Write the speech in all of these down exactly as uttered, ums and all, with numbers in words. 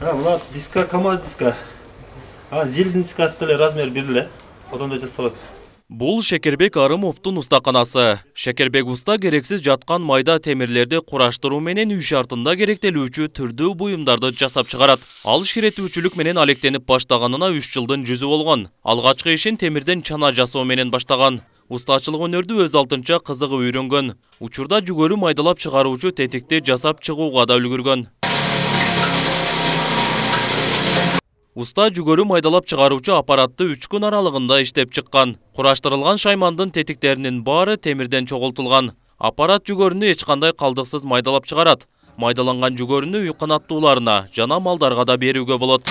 Мына диска КамАЗ диска. А зилдин дискасы деле размер бир эле. Одондо жасалат. Бул Шекербек Арымовдун устаканасы. Шекербек уста керексиз жаткан майда темирлерди кураштыруу менен үй шартында керектелүүчү түрдүү буюмдарды жасап чыгарат. Ал ширетүүчүлүк менен алектенип баштаганына үч жылдын жүзү болгон. Алгачкы ишин темирден чана жасоо менен баштаган. Устачылык өнөрдү өз алтынча кызыгып үйрөнгөн. Учурда жүгөрү майдалап чыгаруучу тетикти жасап чыгууга да үлгүргөн. Уста жүгөрү майдалап чыгаруучу аппаратты үч күн аралыгында иштеп чыккан. Кураштырылган шаймандын тетиктеринин баары темирден чогултулган. Аппарат жүгөрүнү эч кандай калдыксыз майдалап чыгарат. Майдаланган жүгөрүнү үй канаттууларына жана малдарга да берүүгө болот.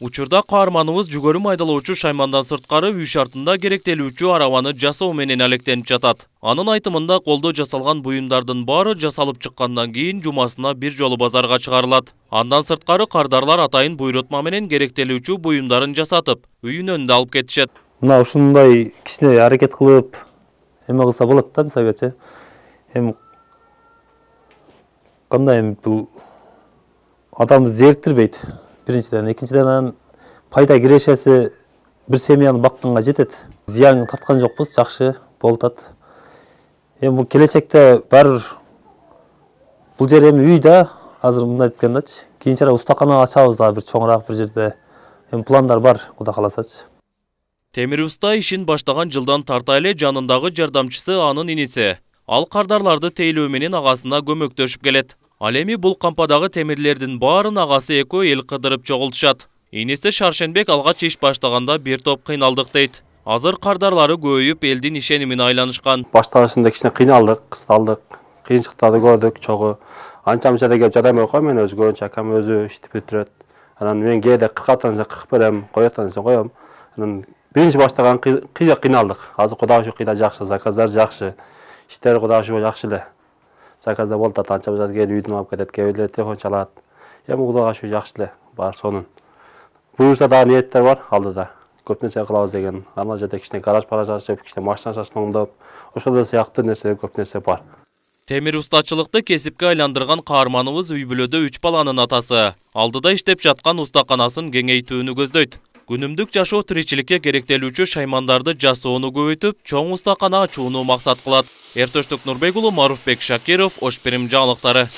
Учурда каарманыбыз жүгөрү майдалоочу шаймандан сырткары үй шартында керектелүүчү арабаны жасоо менен алектенип жатат. Анын айтымында колдо жасалган буюмдардын баары жасалып чыккандан кийин жумасына бир жолу базарга чыгарылат. Андан сырткары кардарлар атайын буйрутма менен керектелүүчү буюмдарын жасатып, үйүнөн да алып кетишет. Мына ушундай кичине аракет кылып эме кылса болот да, мисалгачы. Эми кандай эми бул адамды зериктирбейт. Биринчиден, экинчиден пайда кирешеси бир семьяны бакканга жетет. Зыян тарткан жокпуз, жакшы болуп атат. Эми бул келечекте баары бул жер эми үй да, азыр мындай айткандачы. Кийинчерээк устакана ачабыз да бир чоңураак бир жерде. Эми пландар бар, Кудай кааласачы. Темир уста ишин баштаган жылдан тарта эле жанындагы жардамчысы анын иниси. Ал кардарларды тейлөө менен агасына көмөктөшүп келет. Ал эми бул кампадагы темирлердин баарын агасы экөө эл кыдырып чогултушат. Иниси Шаршенбек алгач иш баштаганда бир топ кыйналдык дейт. Азыр кардарлары көбөйүп элдин ишенимине айланышкан. Башташында кичине кыйналдык, кысталдык, кыйынчылыктарды көрдүк, чогуу. Анча мынча да кеп жарабай койм, мен өзү көбүнчө акам өзү иштеп бүтүрөт. Анан мен кээде кырк атан кырк берем, коётан коём. Анан биринчи баштаган кыйда кыйналдык. Азыр Кудайга шүкүр кыйда жакшы, заказдар жакшы. Иштер Кудайга шүкүр жакшы эле. Заказда болуп атат, анча мынча келип үйдөн алып кетет, кээ бирлер телефон чалат. Эми Кудайга шүкүр жакшы эле, бар сонун. Буюрса дагы ниеттер бар алдыда. Көп нерсе кылабыз деген. Ана жерде кичине гараж параж ачып, кичине машина шашын оңдоп, ошол сыяктуу нерселер көп нерсе бар. Темир устачылыкты кесипке айландырган каарманыбыз үй бүлөдө үч баланын атасы. Алдыда иштеп жаткан устаканасын кеңейтүүнү көздөйт. Күнүмдүк жашоо тиричиликке керектелүүчү шаймандарды жасоону көбөйтүп, чоң устакана ачууну максат кылат. Эртөштүк Нурбек уулу, Маруфбек Шакиров, Ош Перим жаңылыктары.